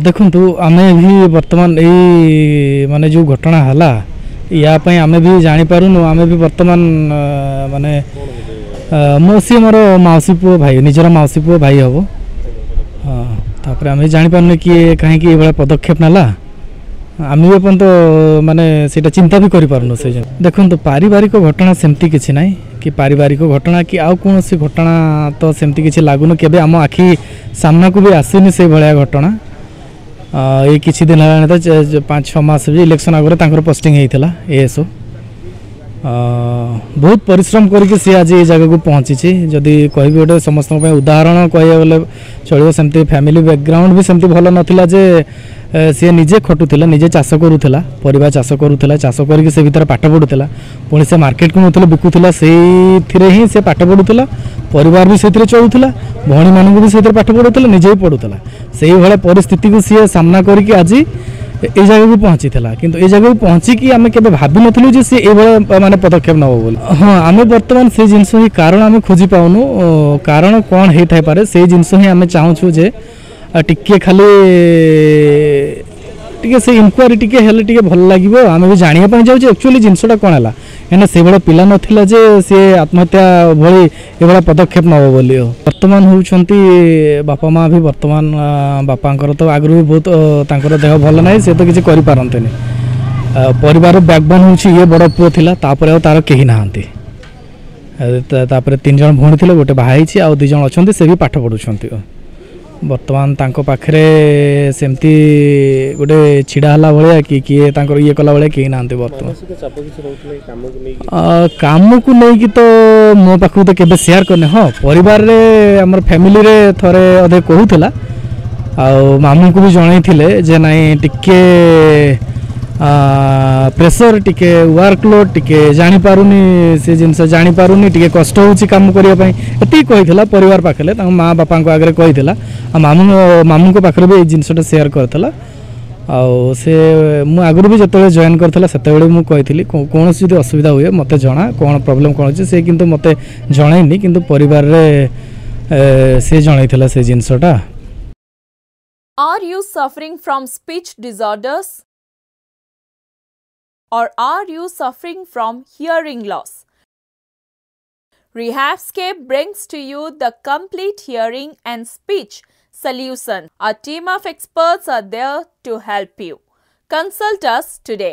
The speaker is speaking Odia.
ଦେଖନ୍ତୁ, ଆମେ ବି ବର୍ତ୍ତମାନ ଏଇ ମାନେ ଯେଉଁ ଘଟଣା ହେଲା, ୟା ପାଇଁ ଆମେ ବି ଜାଣିପାରୁନୁ। ଆମେ ବି ବର୍ତ୍ତମାନ ମାନେ ମୋ ସିଏ ମୋର ମାଉସୀ ପୁଅ ଭାଇ, ନିଜର ମାଉସୀ ପୁଅ ଭାଇ ହେବ। ହଁ, ତାପରେ ଆମେ ଜାଣିପାରୁନୁ କିଏ କାହିଁକି ଏଇଭଳିଆ ପଦକ୍ଷେପ ନେଲା। ଆମେ ବି ଏପର୍ଯ୍ୟନ୍ତ ମାନେ ସେଇଟା ଚିନ୍ତା ବି କରିପାରୁନୁ ସେ। ଦେଖନ୍ତୁ, ପାରିବାରିକ ଘଟଣା ସେମିତି କିଛି ନାହିଁ କି ପାରିବାରିକ ଘଟଣା କି ଆଉ କୌଣସି ଘଟଣା ତ ସେମିତି କିଛି ଲାଗୁନି। କେବେ ଆମ ଆଖି ସାମ୍ନାକୁ ବି ଆସିନି ସେଇଭଳିଆ ଘଟଣା। ଏଇ କିଛି ଦିନ ହେଲାଣି ତ 5-6 ମାସ ବି ଇଲେକ୍ସନ୍ ଆଗରୁ ତାଙ୍କର ପୋଷ୍ଟିଂ ହେଇଥିଲା ଏଏସ୍ଓ। ବହୁତ ପରିଶ୍ରମ କରିକି ସିଏ ଆଜି ଏଇ ଜାଗାକୁ ପହଞ୍ଚିଛି। ଯଦି କହିବି, ଗୋଟେ ସମସ୍ତଙ୍କ ପାଇଁ ଉଦାହରଣ କହିବାକୁ ଗଲେ ଚଳିବ। ସେମିତି ଫ୍ୟାମିଲି ବ୍ୟାକଗ୍ରାଉଣ୍ଡ ବି ସେମିତି ଭଲ ନଥିଲା ଯେ ସିଏ ନିଜେ ଖଟୁଥିଲା, ନିଜେ ଚାଷ କରୁଥିଲା, ପରିବା ଚାଷ କରୁଥିଲା। ଚାଷ କରିକି ସେ ଭିତରେ ପାଠ ପଢ଼ୁଥିଲା। ପୁଣି ସେ ମାର୍କେଟକୁ ନେଉଥିଲା, ବିକୁଥିଲା। ସେଇଥିରେ ହିଁ ସେ ପାଠ ପଢ଼ୁଥିଲା, ପରିବାର ବି ସେଇଥିରେ ଚଳୁଥିଲା, ଭଉଣୀମାନଙ୍କୁ ବି ସେଇଥିରେ ପାଠ ପଢ଼ୁଥିଲା, ନିଜେ ବି ପଢ଼ୁଥିଲା। ସେଇଭଳିଆ ପରିସ୍ଥିତିକୁ ସିଏ ସାମ୍ନା କରିକି ଆଜି ଏଇ ଜାଗାକୁ ପହଞ୍ଚିଥିଲା। କିନ୍ତୁ ଏଇ ଜାଗାକୁ ପହଞ୍ଚିକି ଆମେ କେବେ ଭାବିନଥିଲୁ ଯେ ସିଏ ଏଇଭଳିଆ ମାନେ ପଦକ୍ଷେପ ନେବ ବୋଲି। ହଁ, ଆମେ ବର୍ତ୍ତମାନ ସେଇ ଜିନିଷ ହିଁ କାରଣ ଆମେ ଖୋଜି ପାଉନୁ। କାରଣ କ'ଣ ହେଇଥାଇପାରେ, ସେଇ ଜିନିଷ ହିଁ ଆମେ ଚାହୁଁଛୁ ଯେ ଟିକେ ଖାଲି ଟିକେ ସେ ଇନକ୍ୱାରି ଟିକେ ହେଲେ ଟିକେ ଭଲ ଲାଗିବ। ଆମେ ବି ଜାଣିବା ପାଇଁ ଚାହୁଁଛୁ ଆକ୍ଚୁଆଲି ଜିନିଷଟା କ'ଣ ହେଲା, କାହିଁକିନା ସେଇଭଳିଆ ପିଲା ନଥିଲା ଯେ ସିଏ ଆତ୍ମହତ୍ୟା ଭଳି ଏଭଳିଆ ପଦକ୍ଷେପ ନେବ ବୋଲି। ବର୍ତ୍ତମାନ ହେଉଛନ୍ତି ବାପା ମା ବି ବର୍ତ୍ତମାନ, ବାପାଙ୍କର ତ ଆଗରୁ ବି ବହୁତ ତାଙ୍କର ଦେହ ଭଲ ନାହିଁ, ସେ ତ କିଛି କରିପାରନ୍ତିନି। ପରିବାର ବ୍ୟାକବୋନ୍ ହେଉଛି ଇଏ, ବଡ଼ ପୁଅ ଥିଲା, ତାପରେ ଆଉ ତାର କେହି ନାହାନ୍ତି। ତାପରେ 3 ଜଣ ଭଉଣୀ ଥିଲେ, ଗୋଟେ ବାହା ହେଇଛି, ଆଉ 2 ଜଣ ଅଛନ୍ତି, ସେ ବି ପାଠ ପଢ଼ୁଛନ୍ତି। ବର୍ତ୍ତମାନ ତାଙ୍କ ପାଖରେ ସେମିତି ଗୋଟେ ଛିଡ଼ା ହେଲା ଭଳିଆ କି କିଏ ତାଙ୍କର ଇଏ କଲା ଭଳିଆ କେହି ନାହାନ୍ତି ବର୍ତ୍ତମାନ। କାମକୁ ନେଇକି ତ ମୋ ପାଖକୁ ତ କେବେ ସେୟାର କରିନି। ହଁ, ପରିବାରରେ ଆମର ଫ୍ୟାମିଲିରେ ଥରେ ଅଧେ କହୁଥିଲା, ଆଉ ମାମୁଁଙ୍କୁ ବି ଜଣେଇଥିଲେ ଯେ ନାଇଁ, ଟିକେ ପ୍ରେସର, ଟିକେ ୱାର୍କଲୋଡ଼, ଟିକେ ଜାଣିପାରୁନି, ସେ ଜିନିଷ ଜାଣିପାରୁନି, ଟିକେ କଷ୍ଟ ହେଉଛି କାମ କରିବା ପାଇଁ। ଏତିକି କହିଥିଲା ପରିବାର ପାଖରେ, ତାଙ୍କ ମା ବାପାଙ୍କ ଆଗରେ କହିଥିଲା, ଆଉ ମାମୁଁଙ୍କ ପାଖରେ ବି ଏଇ ଜିନିଷଟା ସେୟାର କରିଥିଲା। ଆଉ ସେ ମୁଁ ଆଗରୁ ବି ଯେତେବେଳେ ଜଏନ୍ କରିଥିଲା, ସେତେବେଳେ ମୁଁ କହିଥିଲି, କୌଣସି ଯଦି ଅସୁବିଧା ହୁଏ ମୋତେ ଜଣା, କ'ଣ ପ୍ରୋବ୍ଲେମ୍ କ'ଣ ଅଛି। ସେ କିନ୍ତୁ ମୋତେ ଜଣେଇନି, କିନ୍ତୁ ପରିବାରରେ ସେ ଜଣେଇଥିଲା ସେ ଜିନିଷଟା। Are you suffering from speech disorders? Or are you suffering from hearing loss? Rehabscape brings to you the complete hearing and speech solution. Our team of experts are there to help you. Consult us today.